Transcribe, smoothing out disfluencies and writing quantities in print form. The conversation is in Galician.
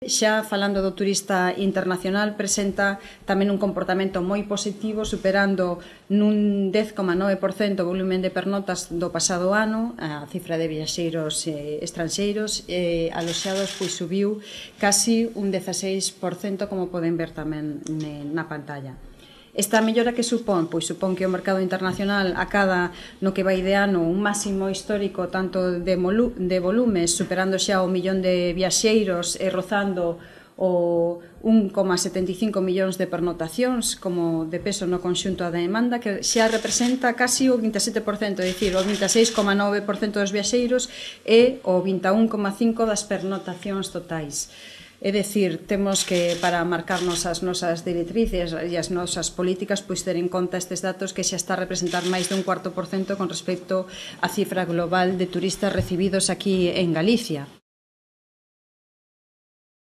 Xa falando do turista internacional, presenta tamén un comportamento moi positivo, superando nun 10,9% o volumen de pernotas do pasado ano. A cifra de viaxeiros estranxeiros aloxados subiu casi un 16%, como poden ver tamén na pantalla. Esta mellora que supón? Pois supón que o mercado internacional acada no que vai de ano un máximo histórico tanto de volumes, superando xa o millón de viaxeiros e rozando o 1,75 millóns de pernotacións como de peso no conxunto da demanda, que xa representa casi o 27%, é dicir, o 26,9% dos viaxeiros e o 21,5% das pernotacións totais. É dicir, temos que, para marcarnos as nosas directrices e as nosas políticas, pois ter en conta estes datos que xa está a representar máis de un 4% con respecto á cifra global de turistas recibidos aquí en Galicia.